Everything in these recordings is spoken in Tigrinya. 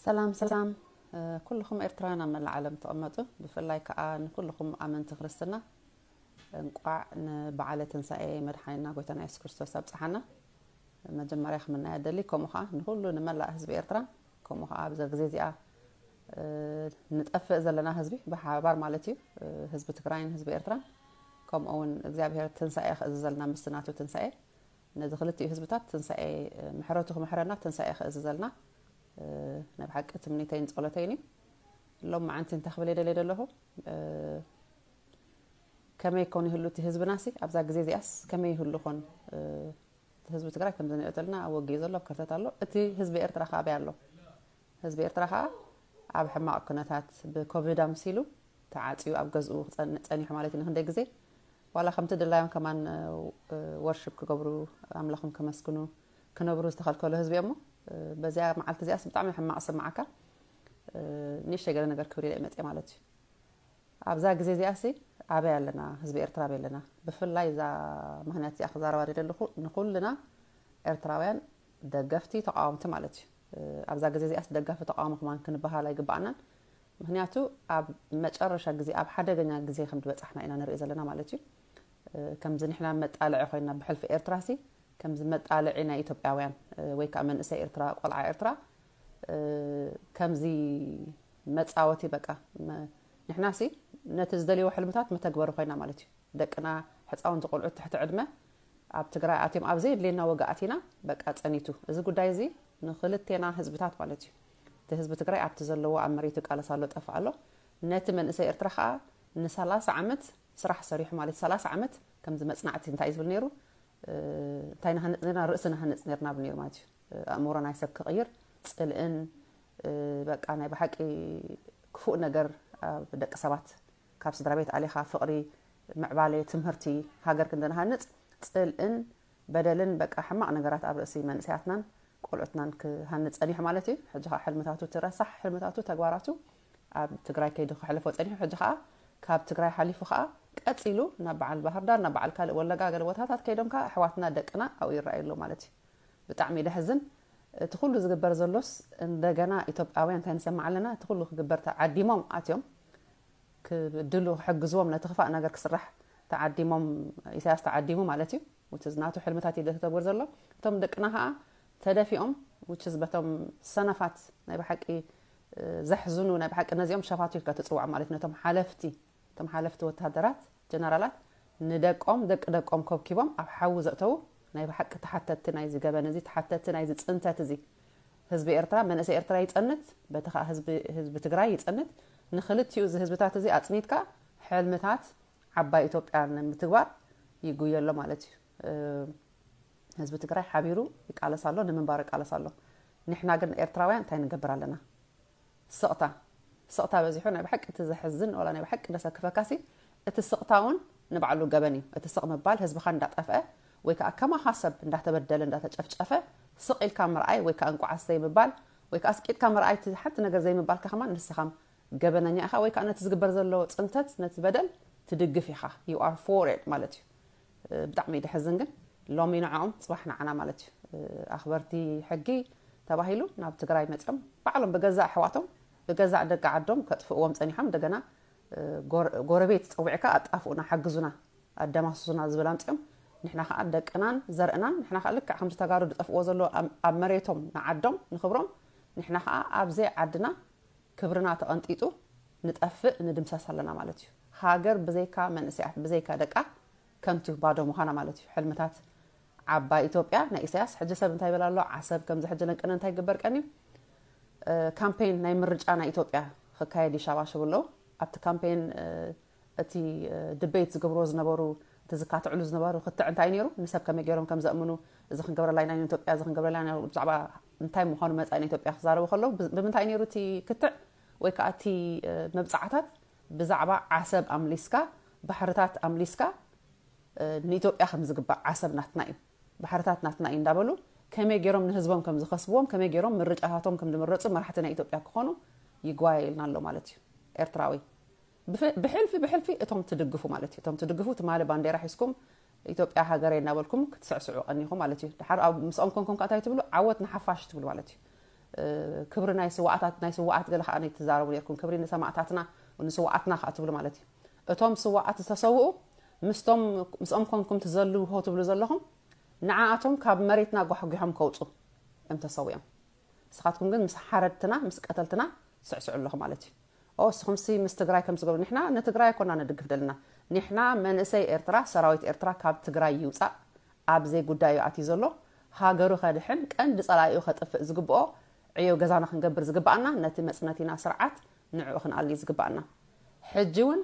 ሰላም ሰላም ኩልኹም ኤርትራውያን ኣብ መላእ ዓለም ትቐመጡ፣ ብፍላይ ከዓ ንኩልኹም ኣመንቲ ክርስትና እንቋዕ ንበዓለ ትንሳኤ መድሓኒና ጎይታና የሱስ ክርስቶስ ኣብጽሓና። መጀመርያ ክምናያ ደሊ፣ ከምኡ ከዓ ንኩሉ ንመላእ ህዝቢ ኤርትራ፣ ከምኡ ከዓ ኣብዛ ግዜ እዚኣ ንጠፍእ ዘለና ህዝቢ ብሓባር ማለት እዩ፣ ህዝቢ ትግራይን ህዝቢ ኤርትራን፣ ከምኡ እውን እግዚኣብሔር ትንሳኤ ክእዝዘልና ምስቲ ናቱ ትንሳኤ ነዚ ክልቲኡ ህዝብታት ትንሳኤ ምሕረቱ ክምሕረና ትንሳኤ ክእዝዘልና ናይ ብሓቂ ትምኒተይን ጸሎተይን እዩ። ሎም መዓንቲ እንታይ ክብል የደልየ ዘለኹ፣ ከመይ ኮን ይህሉ እቲ ህዝብናሲ ኣብዛ ግዜ እዚኣስ ከመይ ይህሉ ኮን? ህዝቢ ትግራይ ከምዚ ንሪኦ ዘለና ኣብ ወጊ ዘሎ ኣብ ከርተት ኣሎ። እቲ ህዝቢ ኤርትራ ካበይ ኣሎ? ህዝቢ ኤርትራ ከዓ ኣብ ሕማቕ ኩነታት ብኮቪድ ኣምሲሉ ተዓፅዩ ኣብ ገዝኡ ክፀን- ፀኒሑ ማለት እዩ ንክንደይ ግዜ። ዋላ ከምቲ ድላዮም ከማን ወርሽፕ ክገብሩ ኣምላኾም ከመስግኑ ክነብሩ ዝተኸልከሉ ህዝቢ እሞ በዚኣ መዓልቲ እዚኣስ ብጣዕሚ ሕማቕ ስማዓካ። ንእሽተይ ገለ ነገር ክብል ኢለ መፅእ ማለት እዩ። ኣብዛ ግዜ እዚኣሲ ኣበይ ኣለና? ህዝቢ ኤርትራ ኣበይ ኣለና? ብፍላይ እዛ ምክንያት እዚኣ ክዛረባ ደለኹ ንኩልና ኤርትራውያን ደገፍቲ ተቃወምቲ ማለት እዩ። ኣብዛ ግዜ እዚኣስ ደጋፊ ተቃዋሚ ክማን ክንበሃል ኣይግባኣናን። ምክንያቱ ኣብ መጨረሻ ግዜ ኣብ ሓደገኛ ግዜ ከም ዝበጻሕና ኢና ንርኢ ዘለና ማለት እዩ። ከምዚ ንሕና መጣልዒ ኮይና ብሕልፊ ኤርትራሲ ከምዚ መጣልዒ ናይ ኢትዮጵያውያን ወይ ከዓ መንእሰይ ኤርትራ ቆልዓ ኤርትራ ከምዚ መጻወቲ በቃ ንሕናሲ ነቲ ዝደልይዎ ሕልምታት መተግበሪ ኮይና ማለት እዩ። ደቅና ሕፃውንቲ ቆልዑት ትሕቲ ዕድመ ኣብ ትግራይ ኣትዮም ኣብ ዘየድልየና ወጋ ኣቲና በቃ ጸኒቱ። እዚ ጉዳይ እዚ ንክልቴና ህዝብታት ማለት እዩ። እቲ ህዝቢ ትግራይ ኣብቲ ዘለዎ ኣብ መሬቱ ይቃለስ ኣሎ ጠፍእ ኣሎ። ነቲ መንእሰይ ኤርትራ ከዓ ንሰላሳ ዓመት ስራሕ ሰሪሑ ማለት ሰላሳ ዓመት ከምዚ መጽናዕቲ እንታይ እዩ ዝብል ነይሩ እንታይ ንሃንጽ ነርና ርእሲ ንሃንጽ ነርና ብ ነይሩ ማለት እዩ። ኣእምሮ ናይ ሰብ ክቕይር ጽልእን በቃ ናይ ብሓቂ ክፉእ ነገር ኣብ ደቂ ሰባት ካብ ስድራ ቤት ኣሊኻ ፍቕሪ ምዕባለ ትምህርቲ ሃገር ክንደንሃንጽ ጽልእን በደልን በቃ ሕማቕ ነገራት ኣብ ርእሲ መንእሰያትናን ቆልዑትናን ክሃንጽ ጸኒሑ ማለት እዩ። ሕጂ ከዓ ሕልምታቱ ትረሳሕ ሕልምታቱ ተግባራቱ ኣብ ትግራይ ከይዱ ክሕልፎ ጸኒሑ ሕጂ ከዓ ካብ ትግራይ ሓሊፉ ከዓ ቀጺሉ ናብ በዓል ባህርዳር ናብ በዓል ካልእ ወለጋ ገለ ቦታታት ከይዶም ከዓ ኣሕዋትና ደቅና ኣብኡ ይረኣዩ ኣሎ ማለት እዩ። ብጣዕሚ ደሕዝን። እቲ ኩሉ ዝግበር ዘሎስ እንደገና ኢትዮጵያውያን እንታይ ንሰማዕ ኣለና? እቲ ኩሉ ክግበር ተዓዲሞም ኣትዮም ክብድሉ ክሕግዝዎም ነቲ ክፋእ ነገር ክስራሕ ተዓዲሞም ኢሳያስ ተዓዲሙ ማለት እዩ። ውትዝ ናቱ ሕልምታት እዩ ተግበር ዘሎ። እቶም ደቅና ከዓ ተደፊኦም ውትዝ በቶም ሰነፋት ናይ ብሓቂ ዘሕዝኑ ናይ ብሓቂ ነዚኦም ሸፋቱ ኢልካ ትፅውዖም ማለት ነቶም ሓለፍቲ እቶም ሓለፍቲ ወታደራት ጀነራላት ንደቆም ደቂ ደቆም ኮብኪቦም ኣብ ሓዊ ዘእተዉ ናይ ብሓቂ ተሓተትቲ ናይዚ ገበን እዚ ተሓተትቲ ናይዚ ፅንተት እዚ ህዝቢ ኤርትራ መንእሰይ ኤርትራ ይፀንት በቲ ከዓ ህዝቢ ትግራይ ይፀንት ንክልቲኡ እዚ ህዝብታት እዚ ኣፅኒትካ ሕልምታት ዓባይ ኢትዮጵያ ንምትግባር ይጉየ ኣሎ ማለት እዩ። ህዝቢ ትግራይ ሓቢሩ ይቃለስ ኣሎ ንምንባሩ ይቃለስ ኣሎ። ንሕና ግን ኤርትራውያን እንታይ ንገብር ኣለና? ስቕታ ስቕታ በዚሑ ናይ ብሓቂ እቲ ዘሕዝን ወላ ናይ ብሓቂ ደሰክፈካሲ እቲ ስቕታ እውን ንባዕሉ ገበን እዩ። እቲ ስቕ ምባል ህዝብኻ እንዳጠፍአ ወይ ከዓ ከማኻ ሰብ እንዳተበደለ እንዳተጨፍጨፈ ስቕ ኢልካ ምርኣይ ወይ ከዓ እንቋዓስ ዘይምባል ወይ ከዓ ኣስቂጥካ ምርኣይ ሓንቲ ነገር ዘይምባልካ ከማን ንስኻም ገበነኛ ኢኻ ወይ ከዓ ነቲ ዝግበር ዘሎ ፅንተት ነቲ በደል ትድግፍ ኢኻ you are for it ማለት እዩ። ብጣዕሚ ደሕዝን ግን ሎሚ ንዕኦም ፅባሕ ንዓና ማለት እዩ። ኣኽበርቲ ሕጊ ተባሂሉ ናብ ትግራይ መፅኦም ባዕሎም ብገዛእ ኣሕዋቶም ብገዛእ ደቂ ዓዶም ከጥፍእዎም ፀኒሖም እንደገና ጎረቤት ፀዊዕካ ኣጣፍኡና ሓግዙና ኣደማስሱና ዝብል ኣምፅኦም ንሕና ከዓ ደቅናን ዘርእናን ንሕና ከዓ ልክዕ ከምዚ ተጋሩ ዝጠፍእዎ ዘሎ ኣብ መሬቶም ንዓዶም ንክብሮም ንሕና ከዓ ኣብዘይ ዓድና ክብርና ተቐንጢጡ ንጠፍእ ንድምሰስ ኣለና ማለት እዩ። ሃገር ብዘይካ መንእሰያት ብዘይካ ደቃ ከንቱ ባዶ ምዃና ማለት እዩ። ሕልምታት ዓባይ ኢትዮጵያ ናይ ኢሳያስ ሕጂ ሰብ እንታይ ይብል ኣሎ? ዓሰብ ከምዚ ሕጂ ለንቅነ እንታይ ይግበር ቀን እዩ? ካምፔን ናይ ምርጫ ናይ ኢትዮጵያ ክካየድ ይሻባሸቡ ኣለዉ። ኣብቲ ካምፔን እቲ ድቤት ዝገብርዎ ዝነበሩ እቲ ዝካትዕሉ ዝነበሩ ክትዕ እንታይ ነይሩ ንሰብ ከመይ ገይሮም ከም ዘእምኑ እዚ ክንገብረላ ኢና ኢትዮጵያ እዚ ክንገብረላ ኢና ብዛዕባ እንታይ ምዃኑ መፃኢ ኢትዮጵያ ክዛረቡ ከለዉ ብምንታይ ነይሩ እቲ ክትዕ ወይ ከዓ እቲ መብፃዕታት ብዛዕባ ዓሰብ ኣምሊስካ ባሕርታት ኣምሊስካ ንኢትዮጵያ ከም ዝግባእ ዓሰብ ናትና እዩ ባሕርታት ናትና እዩ እንዳበሉ ከመይ ገይሮም ንህዝቦም ከም ዝኸስብዎም ከመይ ገይሮም ምርጫታቶም ከም ዝምረፁ መራሕቲ ናይ ኢትዮጵያ ክኾኑ ይጓየ ኢልና ኣሎ ማለት እዩ ኤርትራዊ ብሕልፊ ብሕልፊ እቶም ትድግፉ ማለት እዩ እቶም ትድግፉ ትማሊ ባንዴራ ሒዝኩም ኢትዮጵያ ሃገረይ እናበልኩም ክትስዕስዑ ቀኒኹ ማለት እዩ ድሓር ኣብ ምስኦም ኮንኩም ከ እንታይ ትብሉ ዓወት ንሓፋሽ ትብሉ ማለት እዩ ክብሪ ናይ ስዋኣታት ናይ ስዋኣት ገለ ከዓ ትዛረቡ ነርኩም። ክብሪ ንሰማእታትና ንስዋኣትና ከዓ ትብሉ ማለት እዩ። እቶም ስዋኣት ዝተሰውኡ ምስቶም ምስኦም ኮንኩም ትዘልዎ ትብሉ ዘለኹም ንዓኣቶም ካብ መሬትና ጓሕጒሖም ከውፁ እዮም ተሰዊኦም። ንስኻትኩም ግን ምስ ሓረድትና ምስ ቀተልትና ትስዕስዑ ኣለኹ ማለት እዩ። ኦ እስኹምሲ ምስ ትግራይ ከም ዝገብሩ ንሕና ንትግራይ ኮና ንድግፍ ደልና። ንሕና መንእሰይ ኤርትራ ሰራዊት ኤርትራ ካብ ትግራይ ይውፃእ ኣብ ዘይጉዳዩ ኣትዩ ዘሎ ሃገሩ ከድሕን ቀንዲ ፀላኢኡ ከጥፍእ ዝግብኦ ዕዮ ገዛና ክንገብር ዝግባኣና ነቲ መፅነቲና ስርዓት ንዕኡ ክንኣሊ ዝግባኣና። ሕጂ እውን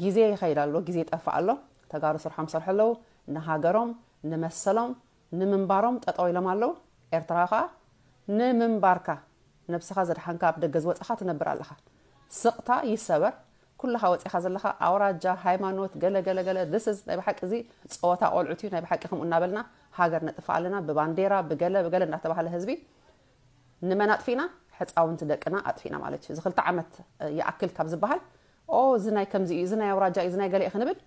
ግዜ ይኸይድ ኣሎ፣ ግዜ ይጠፍእ ኣሎ። ተጋሩ ስርሖም ሰርሑ ኣለዉ። ንሃገሮም ንመሰሎም ንምንባሮም ጠጠው ኢሎም ኣለዉ። ኤርትራ ከዓ ንምንባርካ ነብስኻ ዘድሓንካ ኣብ ደገ ዝወፅኻ ትነብር ኣለኻ። ስቕታ ይሰበር። ኩልኻ ወፂኻ ዘለኻ ኣውራጃ ሃይማኖት ገለ ገለ ገለ this is ናይ ብሓቂ እዚ ፀወታ ቆልዑት እዩ። ናይ ብሓቂ ከምኡ እናበልና ሃገር ነጥፋ ኣለና ብባንዴራ ብገለ ብገለ እናተባህለ ህዝቢ ንመን ኣጥፊእና? ሕፃውንቲ ደቅና ኣጥፊእና ማለት እዩ። እዚ ክልተ ዓመት ይኣክል ካብ ዝበሃል ኦ እዚ ናይ ከምዚ እዩ፣ እዚ ናይ ኣውራጃ እዩ፣ እዚ ናይ ገለ እዩ ክንብል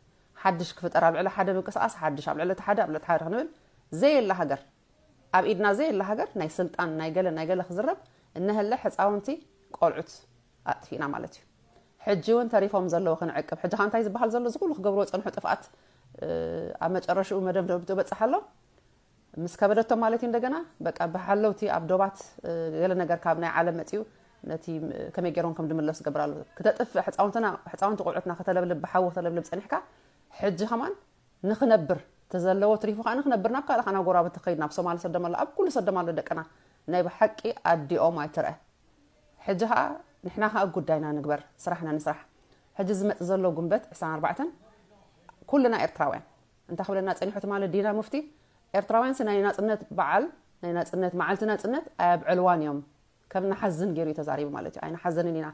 ሓድሽ ክፍጠር ኣብ ልዕሊ ሓደ ምንቅስቃስ ሓድሽ ኣብ ልዕሊ ሓደ ኣብ ልዕሊ ሓደ ክንብል ዘየላ ሃገር ኣብ ኢድና ዘየላ ሃገር ናይ ስልጣን ናይ ገለ ናይ ገለ ክዝረብ እነሀለ ሕፃውንቲ ቆልዑት ኣጥፊእና ማለት እዩ። ሕጂ እውን ተሪፎም ዘለዉ ክንዕቅብ ሕጂ እንታይ ዝበሃል ዘሎ እዚ ኩሉ ክገብርዎ ፀንሑ ጥፍኣት ኣብ መጨረሽኡ መደምደምቶ በፅሕ ኣሎ ምስ ከበደቶም ማለት እዩ። እንደገና በቃ ብሓለውቲ ኣብ ዶባት ገለ ነገር ካብ ናይ ዓለም መፅኡ ነቲ ከመይ ገይሮም ከም ድምለሱ ገብር ኣሎ። ክተጥፍእ ሕፃውንትና ሕፃውንቲ ቆልዑትና ከተለብልብ ብሓዊ ከተለብልብ ፀኒሕካ ሕጂ ከማን ንኽነብር ተዘለዎ ትሪፉ ከዓ ንኽነብር ናብ ካልእ ከና ጎራብቲ ከይድ ናብ ሶማሊ ሰደም ኣሎ ኣብ ኩሉ ሰደም ኣሎ ደቅና ናይ ብሓቂ ኣዲኦም ኣይትርአ። ሕጂ ከዓ ንሕና ከዓ ጉዳይና ንግበር ስራሕና ንስራሕ። ሕጂ ዝመፅ ዘሎ ጉንበት ዕስራን ኣርባዕተን ኩልና ኤርትራውያን እንታይ ክብለና ፀኒሑ ትማሊ ዲና ሙፍቲ ኤርትራውያንስ ናይ ናፅነት በዓል ናይ ናፅነት መዓልቲ ናፅነት ኣየብዕልዋን እዮም ከም ንሓዝን ገይሩ እዩ ተዛሪቡ ማለት እዩ። ኣይንሓዘንን ኢና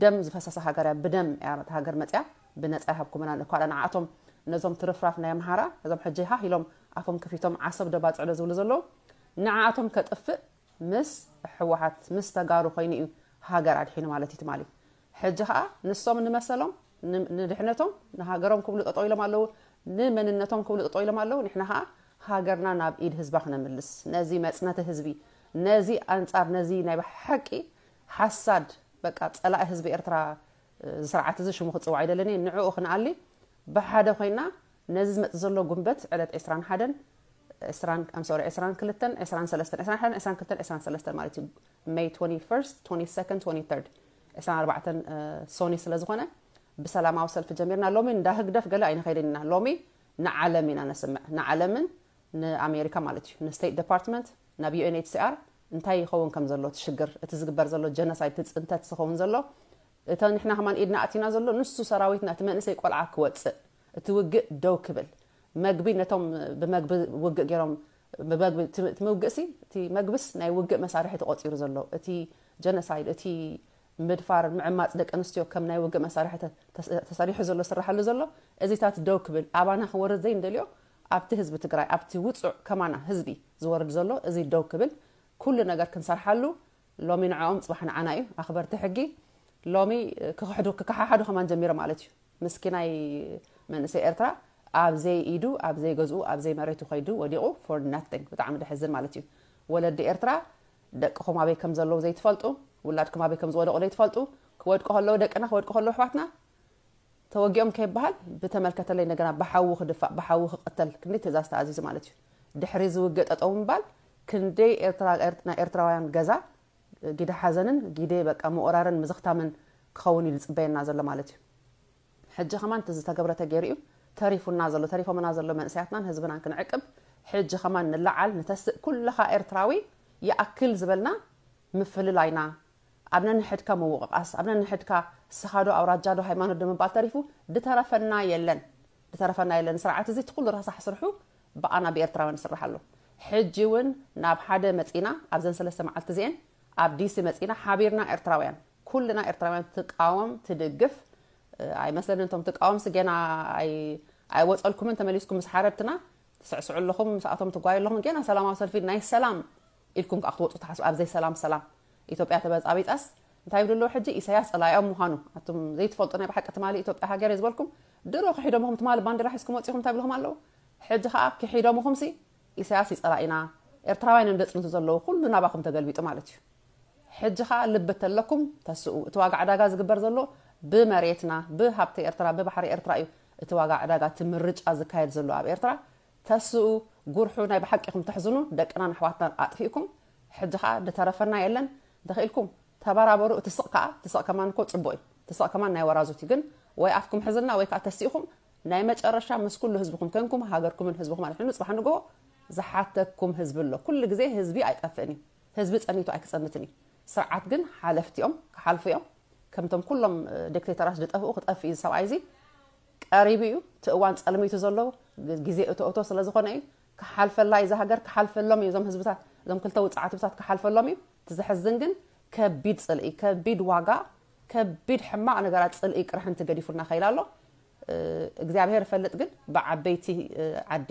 ደም ዝፈሰሰ ሃገር እያ ብደም እያ ነታ ሃገር መፅያ ብነፃ ይሃብኩምና እኳ ንዓቶም ነዞም ትርፍራፍ ናይ ኣምሃራ ነዞም ሕጂ ሃ ኢሎም ኣፎም ከፊቶም ዓሰብ ደባፅዕዶ ዝብሉ ዘለዉ ንዓኣቶም ከጥፍእ ምስ ህወሓት ምስ ተጋሩ ኮይኑ እዩ ሃገር ኣድሒኑ ማለት እዩ ትማሊ። ሕጂ ከዓ ንሶም ንመሰሎም ንድሕነቶም ንሃገሮም ክብሉ ጠጠው ኢሎም ኣለዉ። ንመንነቶም ክብሉ ጠጠው ኢሎም ኣለዉ። ንሕና ከዓ ሃገርና ናብ ኢድ ህዝባ ክነምልስ ነዚ መፅነቲ ህዝቢ ነዚ ኣንፃር ነዚ ናይ ብሓቂ ሓሳድ በቃ ፀላኢ ህዝቢ ኤርትራ ዝስርዓት እዚ ሽሙ ክፅዋዕ ኣይደለኒ ንዕኡ ክንኣሊ ብሓደ ኮይና ነዚ ዝመፅ ዘሎ ጉንበት ዕለት ዕስራን ሓደን ዕስራን I'm sorry ዕስራን ክልተን ዕስራን ሰለስተን ዕስራን ሓደን ዕስራን ክልተን ዕስራን ሰለስተን ማለት እዩ May twenty-first twenty-second twenty-third ዕስራን ኣርባዕተን ሶኒ ስለ ዝኾነ ብሰላማዊ ሰልፊ ጀሚርና ሎሚ እንዳ ህግደፍ ገለ ኣይንኸይድን ኢና ሎሚ ንዓለም ኢና ነስምዕ ንዓለምን ንኣሜሪካ ማለት እዩ ንስቴት ዲፓርትመንት ናብ UNHCR እንታይ ይኸውን ከም ዘሎ እቲ ሽግር እቲ ዝግበር ዘሎ ጀኖሳይድ እቲ ፅንተት ዝኸውን ዘሎ እተ ንሕና ከማን ኢድና ኣቲና ዘሎ ንሱ ሰራዊትና እቲ መንእሰይ ቆልዓ ክወፅእ እቲ ውግእ ደው ክብል መግቢ ነቶም ብመግቢ ውግእ ገይሮም ብመግቢ እቲ ምውግእ ሲ እቲ መግብስ ናይ ውግእ መሳርሒ ተቆፂሩ ዘሎ እቲ ጀኖሳይድ እቲ ምድፋር ምዕማፅ ደቂ ኣንስትዮ ከም ናይ ውግእ መሳርሒ ተሰሪሑ ዘሎ ስራሓሉ ዘሎ እዚታት ደው ክብል ኣባና ክወርድ ዘይንደልዮ ኣብቲ ህዝቢ ትግራይ ኣብቲ ውፁዕ ከማና ህዝቢ ዝወርድ ዘሎ እዚ ደው ክብል ኩሉ ነገር ክንሰርሓሉ ሎሚ ንዕኦም ፅባሕ ንዓና እዩ ኣኽበርቲ ሕጊ ሎሚ ክክሕዱ ክከሓሓዱ ከማን ጀሚሮ ማለት እዩ ምስኪናይ መንእሰይ ኤርትራ ኣብ ዘይ ኢዱ ኣብ ዘይ ገዝኡ ኣብ ዘይ መሬቱ ከይዱ ወዲቑ for nothing ብጣዕሚ ደሕዝን ማለት እዩ ወለዲ ኤርትራ ደቅኹም ኣበይ ከም ዘለዉ ዘይትፈልጡ ውላድኩም ኣበይ ከም ዝወደቑ ዘይትፈልጡ ክወድቁ ከለዉ ደቅና ክወድቁ ከለዉ ኣሕዋትና ተወጊኦም ከይበሃል ብተመልከተለይ እንደገና ብሓዊ ክድፋእ ብሓዊ ክቅተል ክንደይ ትእዛዝ ተኣዚዙ ማለት እዩ ድሕሪ ዝውግእ ጠጠው ምባል ክንደይ ኤርትራ ናይ ኤርትራውያን ገዛ ጊደ ሓዘንን ጊደ በቃ ምቁራርን ምዝኽታምን ክኸውን እዩ ዝፅበየና ዘሎ ማለት እዩ ሕጂ ከማን እቲ ዝተገብረ ተገይሩ እዩ ተሪፉና ዘሎ ተሪፎምና ዘሎ መንእሰያትናን ህዝብናን ክንዕቅብ ሕጂ ከማን ንላዓል ንተስእ ኩልኻ ኤርትራዊ ይኣክል ዝበልና ምፍልላይና ኣብ ነንሕድካ ምውቕቓስ ኣብ ነንሕድካ ስኻ ዶ ኣውራጃ ዶ ሃይማኖት ዶ ምባል ተሪፉ ድተረፈና የለን ድተረፈና የለን ስርዓት እዚ እቲ ኩሉ ረሳሕ ስርሑ ብኣና ብኤርትራውያን ይስራሕ ኣሎ ሕጂ እውን ናብ ሓደ መፂና ኣብዘን ሰለስተ መዓልቲ እዚኤን ኣብ ዲሲ መፂና ሓቢርና ኤርትራውያን ኩልና ኤርትራውያን ትቃወም ትድግፍ ኣይመስለንን እቶም ትቃወምሲ ገና ኣይወፀልኩምን ተመሊስኩም ምስ ሓረድትና ትስዕስዑ ኣለኹም ምስኣቶም ትጓዩ ኣለኹም ገና ሰላማዊ ሰልፊ ናይ ሰላም ኢልኩም ከዓ ክትወፁ ትሓስቡ ኣብዘይ ሰላም ሰላም ኢትዮጵያ ተበፃቢፃስ እንታይ ይብሉ ኣለዉ ሕጂ ኢሳያስ ፀላኢኦም ምዃኑ ኣቱም ዘይትፈልጡ ናይ ብሓቂ ትማሊ ኢትዮጵያ ሃገር እየ ዝበልኩም ድሮ ክሒዶምኹም ትማሊ ባንዲራ ሒዝኩም ወፂኹም እንታይ ይብልኹም ኣለዉ ሕጂ ከዓ ክሒዶምኹምሲ ኢሳያስ ይፀላኢና ኤርትራውያን እዮም ዘፅንቱ ዘለዉ ኩሉ ናባኹም ተገልቢጡ ማለት እዩ ሕጂ ኸኣ ልቢ ተለኩም ተስኡ። እቲ ዋጋ ዕዳጋ ዝግበር ዘሎ ብመሬትና፣ ብሃብቲ ኤርትራ፣ ብባሕሪ ኤርትራ እዩ። እቲ ዋጋ ዕዳጋ፣ እቲ ምርጫ ዝካየድ ዘሎ ኣብ ኤርትራ፣ ተስኡ። ጉርሑ ናይ ብሓቂኹም ተሕዝኑ፣ ደቅናን ኣሕዋትናን ኣጥፊእኩም። ሕጂ ኸኣ ዝተረፈና የለን። እንተኽኢልኩም ተበራበሩ። እቲ ስቕ ከኣ፣ እቲ ስቕ ከማን እኮ ጽቡቕ እዩ። እቲ ስቕ ከማን ናይ ወራዙት እዩ። ግን ወይ ኣፍኩም ሕዝና ወይ ከኣ ተሲእኹም ናይ መጨረሻ ምስ ኩሉ ህዝብኹም ከንኩም ሃገርኩምን ህዝብኹም ኣድሕኑ። ጽባሕ ንግሆ ዝሓተኩም ህዝቢ ኣሎ። ኩሉ ግዜ ህዝቢ ኣይጠፍእን እዩ። ህዝቢ ጸኒቱ ኣይክጸንትን እዩ። ስርዓት ግን ሓለፍቲ እዮም፣ ክሓልፉ እዮም። ከምቶም ኩሎም ዲክቴተራት ዝጠፍኡ ክጠፍእ እዩ ሰብኣይ እዚ። ቀሪቡ እዩ። እቲ እዋን ጸልሚቱ ዘሎ ግዜ እቶ እቶ ስለ ዝኾነ እዩ። ክሓልፈላ እዩ እዛ ሃገር፣ ክሓልፈሎም እዩ እዞም ህዝብታት፣ እዞም ክልተ ውጽዓት ህዝብታት ክሓልፈሎም እዩ። እቲ ዘሕዝን ግን ከቢድ ጽልኢ፣ ከቢድ ዋጋ፣ ከቢድ ሕማቕ ነገራት ጽልኢ ቅርሕንቲ ገዲፉልና ከይላ ኣሎ። እግዚኣብሔር ይፈልጥ ግን ብዓበይቲ ዓዲ፣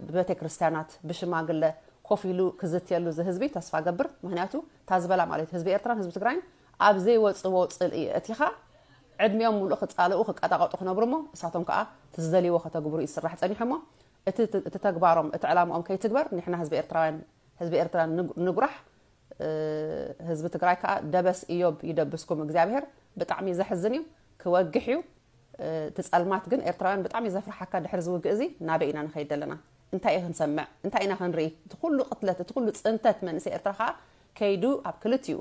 ብቤተ ክርስቲያናት፣ ብሽማግለ ኮፍ ኢሉ ክዝትየሉ እዚ ህዝቢ ተስፋ ገብር። ምክንያቱ እታ ዝበላ ማለት ህዝቢ ኤርትራን ህዝቢ ትግራይን ኣብ ዘይወፅዎ ፅልኢ እቲኻ ዕድሚኦም ሙሉእ ክፃለኡ ክቀጣቀጡ ክነብሩ እሞ እሳቶም ከዓ እቲ ዝደልይዎ ከተግብሩ እዩ ዝስራሕ ፀኒሑ እሞ እቲ ተግባሮም እቲ ዕላምኦም ከይትግበር ንሕና ህዝቢ ኤርትራውያን ህዝቢ ኤርትራ ንጉራሕ። ህዝቢ ትግራይ ከዓ ደበስ እዮብ ይደብስኩም እግዚኣብሔር። ብጣዕሚ ዘሕዝን እዩ፣ ክወግሕ እዩ። እቲ ፀልማት ግን ኤርትራውያን ብጣዕሚ ዘፍርሓካ ድሕሪ ዝውግእ እዚ ናበይ ኢና ንኸይድ ዘለና? እንታይ እዩ ክንሰምዕ? እንታይ ኢና ክንርኢ? እቲ ኩሉ ቅትለት፣ እቲ ኩሉ ፅንተት መንእሰይ ኤርትራ ከዓ ከይዱ ኣብ ክልቲኡ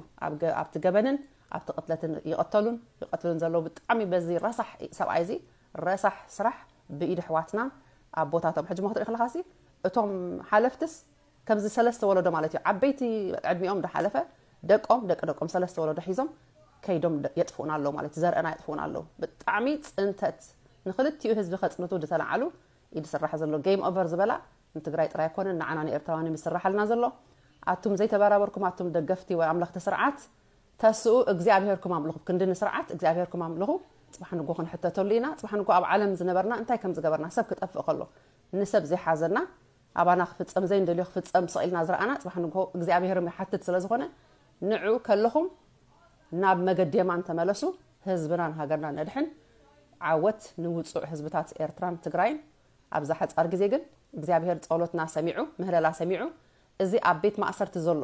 ኣብቲ ገበንን ኣብቲ ቅትለትን ይቐተሉን ይቐትሉን ዘለዉ ብጣዕሚ በዚ ረሳሕ ሰብኣይ እዚ ረሳሕ ስራሕ ብኢድ ኣሕዋትናን ኣቦታቶም ሕጂ ሞ ክትርኢ ከለኻሲ እቶም ሓለፍትስ ከምዚ ሰለስተ ወለዶ ማለት እዩ። ዓበይቲ ዕድሚኦም ዝሓለፈ ደቆም ደቂ ደቆም ሰለስተ ወለዶ ሒዞም ከይዶም የጥፍኡና ኣለዉ ማለት እዩ። ዘርእና የጥፍኡና ኣለዉ። ብጣዕሚ ፅንተት ንክልቲኡ ህዝቢ ከፅንቱ ዝተለዓሉ እዩ ዝስራሕ ዘሎ። ጌም ኦቨር ዝበላ ንትግራይ ጥራይ ኣይኮነን ንዓና ንኤርትራውያን እዩ ዝስራሓልና ዘሎ። ኣቱም ዘይተበራበርኩም ኣቱም ደገፍቲ ወይ ኣምለኽቲ ስርዓት ተስኡ እግዚኣብሄርኩም ኣምልኹ። ክንዲ ንስርዓት እግዚኣብሄርኩም ኣምልኹ። ፅባሕ ንጎ ክንሕተተሉ ኢና። ፅባሕ ንጎ ኣብ ዓለም ዝነበርና እንታይ ከም ዝገበርና ሰብ ክጠፍእ ከሎ ንሰብ ዘይሓዘና ኣባና ክፍፀም ዘይንደልዮ ክፍፀም ስቕ ኢልና ዝረኣና ፅባሕ ንጎ እግዚኣብሄርም ይሓትት ስለ ዝኾነ ንዑ ከለኹም ናብ መገዲ የማን ተመለሱ። ህዝብናን ሃገርናን ነድሕን። ዓወት ንውፁዕ ህዝብታት ኤርትራን ትግራይን። ኣብዛ ሓፃር ግዜ ግን እግዚኣብሄር ፀሎትና ሰሚዑ ምህለላ ሰሚዑ እዚ ኣብ ቤት ማእሰርቲ ዘሎ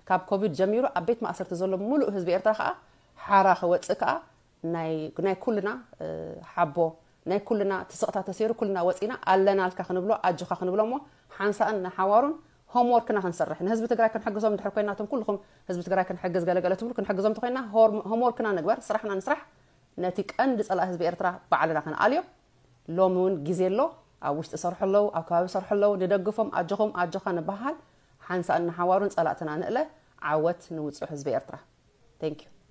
ካብ ኮቪድ ጀሚሩ ኣብ ቤት ማእሰርቲ ዘሎ ሙሉእ ህዝቢ ኤርትራ ከዓ ሓራ ክወፅእ ከዓ ናይ ኩልና ሓቦ ናይ ኩልና ትስቕታ ተሰይሩ ኩልና ወፂና ኣለናልካ ክንብሎ ኣጆኻ ክንብሎ እሞ ሓንሳእን ንሓዋሩን ሆምወርክና ክንሰርሕ ንህዝቢ ትግራይ ክንሕግዞም ድሕር ኮይና እቶም ኩልኹም ህዝቢ ትግራይ ክንሕግዝ ገለገለ ትብሉ ክንሕግዞም ተኮይና ሆምወርክና ንግበር ስራሕና ንስራሕ። ነቲ ቀንዲ ፀላእ ህዝቢ ኤርትራ ባዕልና ክንኣልዮ ሎሚ እውን ግዜ ኣሎ። ኣብ ውሽጢ ሰርሑ ኣለዉ ኣብ ከባቢ ሰርሑ ኣለዉ ንደግፎም ኣጆኹም ኣጆኻ ንበሃል። ሓንሳእን ንሓዋሩን ፀላእትና ንእለ። ዓወት ንውፁዕ ህዝቢ ኤርትራ። Thank you.